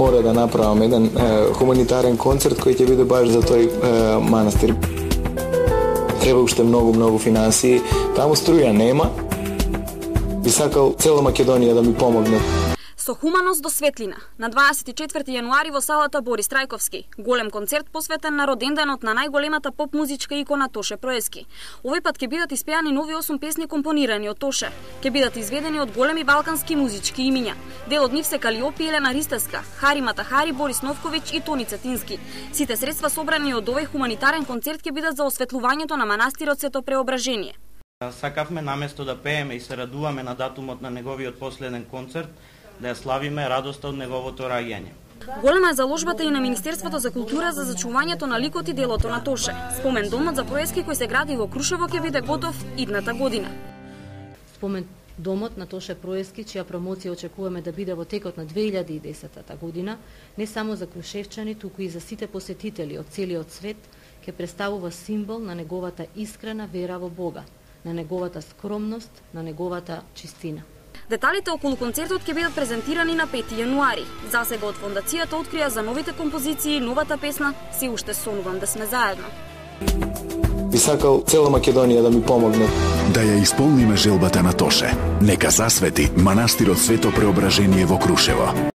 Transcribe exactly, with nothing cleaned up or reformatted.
мора да направам еден е, хуманитарен концерт кој ќе биде баш за тој е, манастир. Треба уште многу, многу финансии. Таму струја нема. Би сакал цела Македонија да ми помогне. Со хуманост до светлина. На дваесет и четврти јануари во салата Борис Трајковски. Голем концерт посветен на роденденот на најголемата поп музичка икона Тоше Проески. Овој пат ќе бидат испеани нови осум песни компонирани од Тоше. Ќе бидат изведени од големи балкански музички имиња. Дел од нив се Калиопи, Елена Ристевска, Хари Матахари, Борис Новковиќ и Тони Цетински. Сите средства собрани од овој хуманитарен концерт ќе бидат за осветлувањето на манастирот Свето Преображение. Сакавме наместо да пееме и се радуваме на датумот на неговиот последен концерт, да ја славиме радоста од неговото раѓање. Голема е заложбата и на Министерството за култура за зачувањето на ликот и делото на Тоше. Спомен домот за Проески кој се гради во Крушево ќе биде готов идната година. Спомен домот на Тоше Проески, чија промоција очекуваме да биде во текот на две илјади и десета година, не само за крушевчани, туку и за сите посетители од целиот свет, ќе представува символ на неговата искрена вера во Бога, на неговата скромност, на неговата чистина. Деталите околу концертот ќе бидат презентирани на пети јануари. Засега од фондацијата открија за новите композиции и новата песна "Се уште сонувам да сме заедно". Би сакал цела Македонија да ми помогне. Да ја исполниме желбата на Тоше. Нека засвети манастирот Свето Преображение во Крушево.